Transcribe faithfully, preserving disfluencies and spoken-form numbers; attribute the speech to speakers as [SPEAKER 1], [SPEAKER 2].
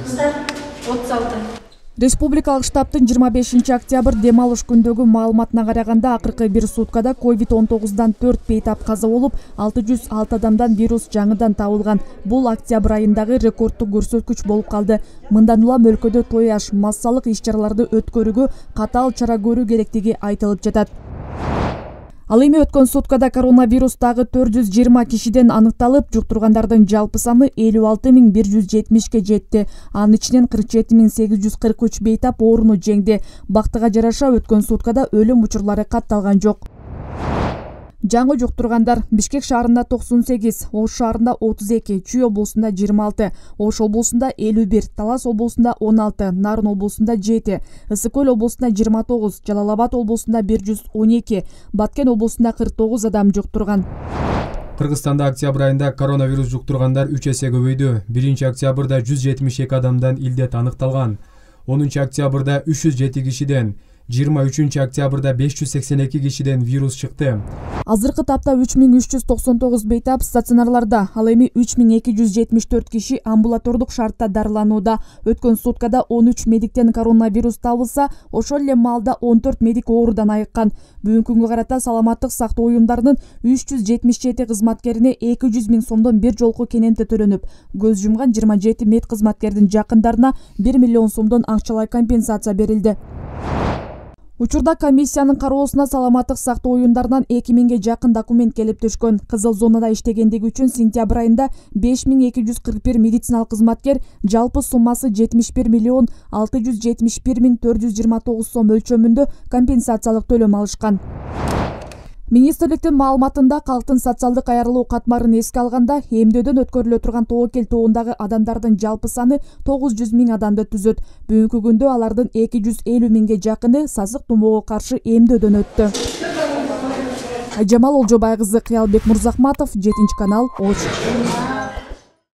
[SPEAKER 1] отуз алты.
[SPEAKER 2] Республикалык штабтын жыйырма бешинчи октябрь дем алыш күндөгү маалыматына караганда акыркы бир суткада ковид он тогуздан төрт бейтап каза болуп, алты жүз алты адамдан вирус жаңыдан табылган. Бул октябрь айындагы рекордтук көрсөткүч болуп калды. Мындан улам өлкөдө той аш, массалык иш-чараларды өткөрүүгө катаал чара көрүү керектиги айтылып жатат. Ал эми өткөн суткада коронавирус дагы төрт жүз жыйырма кишиден аныкталып, жуктургандардын жалпы саны элүү алты миң бир жүз жетимишке жетти. Анын ичинен кырк жети миң сегиз жүз кырк үч бейтап ооруну жеңди. Бактыга жараша өткөн суткада өлүм учурлары катталган жок. Жаңы жуктургандар: Бишкек шаарында токсон сегиз, Ош шаарында отуз эки, Чүй облусунда жыйырма алты, Ош облусунда элүү бир, Талас облусунда он алты, Нарын облусунда жети, Ысык көл облусунда жыйырма тогуз, Жалал Абад облусунда бир жүз он эки, Баткен облусунда кырк тогуз адам жуктурган.
[SPEAKER 3] Кыргызстанда октябрь айында коронавирус жуктургандар үч эсе көбөйдү. биринчи октябрда жүз жетимиш эки адамдан илдет аныкталган. онунчу октябрда үч жүз жети кишиден, жыйырма үчүнчү октябрда беш жүз сексен эки кишиден вирус чыкты.
[SPEAKER 2] Азыркы тапта үч миң үч жүз токсон тогуз бейтап стационарларда, ал эми үч миң эки жүз жетимиш төрт киши амбулатордук шартта дарыланууда. Өткөн суткада он үч медиктен коронавирус табылса, ошол эле маалда он төрт медик оорудан айыккан. Бүгүнкү күнгө карата саламаттык сактоо уюмдарынын үч жүз жетимиш жети кызматкерине эки жүз миң сомдон бир жолку кененте төлөнүп, көз жумган жыйырма жети мед кызматкердин жакындарына бир миллион сомдон акчалай компенсация берилди. Учурда комиссиянын кароосуна саламаттык сактоо уюмдарынан эки миңге жакын документ келип түшкөн. Кызыл зонада иштегендиги үчүн сентябрь айында беш миң эки жүз кырк бир медициналык кызматкер жалпы суммасы жетимиш бир миллион алты жүз жетимиш бир миң төрт жүз жыйырма тогуз сом өлчөмүндө компенсациялык төлөм алышкан. Министрликтин маалыматында калктын социалдык аярылуу катмарын эске алганда, эмдөөдөн өткөрүлө турган тобокел тобундагы адамдардын жалпы саны тогуз жүз миң адамды түзөт. Бүгүнкү күндө алардын эки жүз элүү миңге жакыны сасык тумоого каршы эмдөөдөн өттү. Айжамал Олжобай кызы, Кыялбек Мурзахматов, жетинчи канал, Ош.